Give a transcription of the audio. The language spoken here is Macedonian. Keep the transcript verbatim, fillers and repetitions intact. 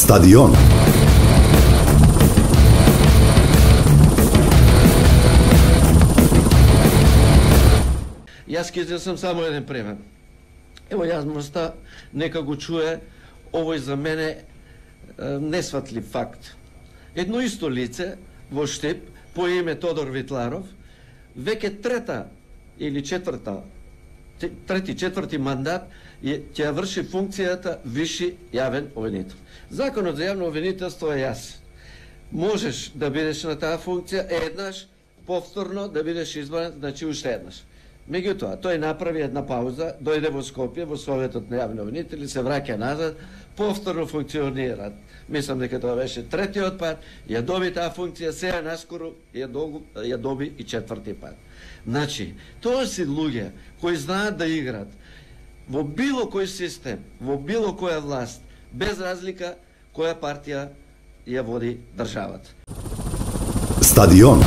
Стадион. Јас ќе сум само еден пример. Ево јавноста нека го чуе овој за мене несватлив факт. Едно исто лице во Штип по име Тодор Витларов веќе трета или четврта трети четврти мандат ќе ја врши функцијата виши јавен обвинител. Законот за јавно обвинителство е јас. Можеш да бидеш на таа функција еднаш, повторно да бидеш избран, значи уште еднаш. Меѓутоа, тој направи една пауза, дојде во Скопје, во Советот на јавни обвинители, се враќа назад, повторно функционира. Мислам дека тоа беше третиот пат, ја доби таа функција, сега наскоро ја, доби, ја доби и четврти пат. Значи, тоа си луѓе кои знаат да играат во било кој систем, во било која власт, без разлика која партија ја води државата. Стадион.